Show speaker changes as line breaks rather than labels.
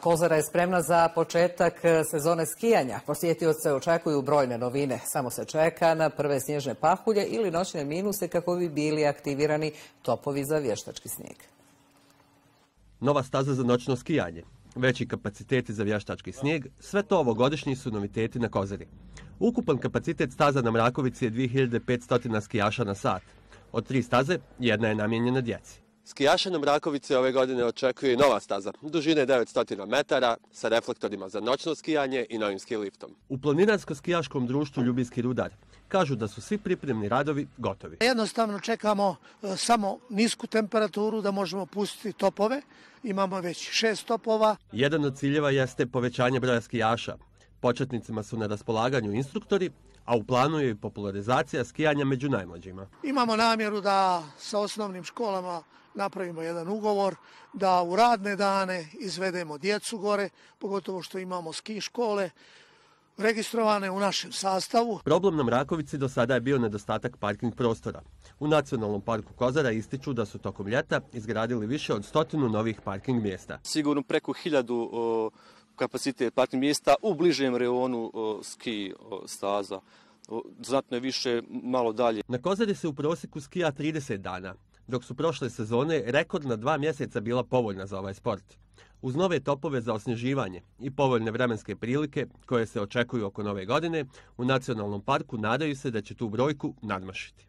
Kozara je spremna za početak sezone skijanja. Posjetioce očekuju brojne novine. Samo se čeka na prve snježne pahulje ili noćne minuse kako bi bili aktivirani topovi za vještački snijeg.
Nova staza za noćno skijanje, veći kapaciteti za vještački snijeg, sve to ovogodišnji su noviteti na Kozari. Ukupan kapacitet staza na Mrakovici je 2500 skijaša na sat. Od 3 staze, jedna je namijenjena djeci. Skijaše na Mrakovici ove godine očekuje i nova staza, dužine 900 metara, sa reflektorima za noćno skijanje i novim ski liftom. U planinarsko-skijaškom društvu Ljubinski rudar kažu da su svi pripremni radovi gotovi.
Jednostavno čekamo samo nisku temperaturu da možemo pustiti topove. Imamo već 6 topova.
Jedan od ciljeva jeste povećanje broja skijaša. Početnicima su na raspolaganju instruktori, a u planu je i popularizacija skijanja među najmlađima.
Imamo namjeru da sa osnovnim školama napravimo jedan ugovor, da u radne dane izvedemo djecu gore, pogotovo što imamo ski škole registrovane u našem sastavu.
Problem na Mrakovici do sada je bio nedostatak parking prostora. U Nacionalnom parku Kozara ističu da su tokom ljeta izgradili više od 100 novih parking mjesta.
Sigurno preko 1000 kapacitet parking mjesta u bližem reonu ski staza. Znatno je više, malo dalje.
Na Kozari se u prosjeku skija 30 dana, dok su prošle sezone rekordna 2 mjeseca bila povoljna za ovaj sport. Uz nove topove za osnježivanje i povoljne vremenske prilike koje se očekuju oko nove godine, u Nacionalnom parku nadaju se da će tu brojku nadmašiti.